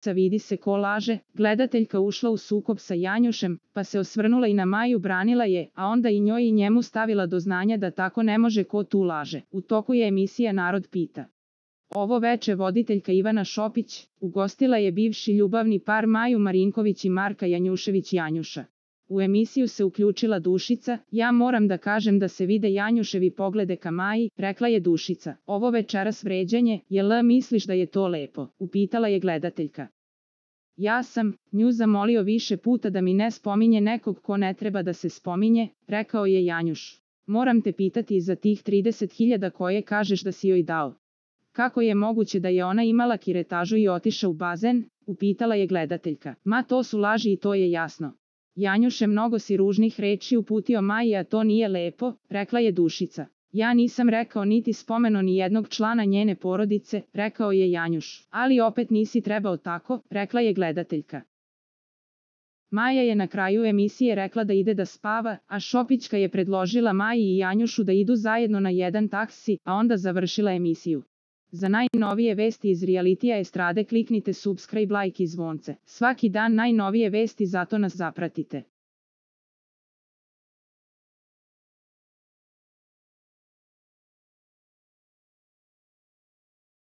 vidi se ko laže, gledateljka ušla u sukob sa Janjušem, pa se osvrnula i na Maju, branila je, a onda i njoj i njemu stavila do znanja da tako ne može, ko tu laže. U toku je emisija Narod pita. Ovo veče voditeljka Ivana Šopić ugostila je bivši ljubavni par Maju Marinković i Marka Janjušević Janjuša. U emisiju se uključila Dušica. Ja moram da kažem da se vide Janjuševi poglede ka Maji, rekla je Dušica. Ovo večeras vređanje, jel misliš da je to lepo? Upitala je gledateljka. Ja sam nju zamolio više puta da mi ne spominje nekog ko ne treba da se spominje, rekao je Janjuš. Moram te pitati i za tih 30.000 koje kažeš da si joj dao. Kako je moguće da je ona imala kiretažu i otišla u bazen? Upitala je gledateljka. Ma to su laži i to je jasno. Janjuš je mnogo si ružnih reči uputio Maji, a to nije lepo, rekla je Dušica. Ja nisam rekao niti spomeno ni jednog člana njene porodice, rekao je Janjuš. Ali opet nisi trebao tako, rekla je gledateljka. Maja je na kraju emisije rekla da ide da spava, a Šopićka je predložila Maji i Janjušu da idu zajedno na jedan taksi, a onda završila emisiju. Za najnovije vesti iz realitija estrade kliknite subscribe, like i zvonce. Svaki dan najnovije vesti, zato nas zapratite.